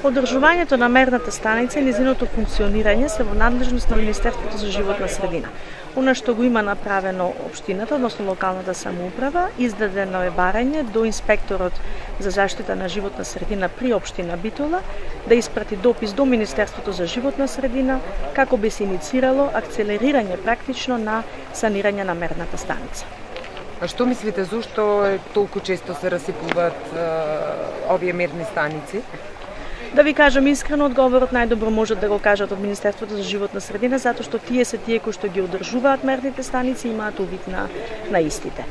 Одржувањето на мерната станица и незиното функционирање се во надлежност на Министерството за животна средина. Она што го има направено општината, односно локалната самоуправа, издадено е барање до инспекторот за заштита на животна средина при општина Битола да испрати допис до Министерството за животна средина како би се иницирало акцелерирање практично на санирање на мерната станица. А што мислите, зошто толку често се расипуваат овие мерни станици? Да ви кажам искрено, одговорот најдобро можат да го кажат од Министерството за животна средина, затоа што тие се тие кои што ги одржуваат мерните станици и имаат увид на истите.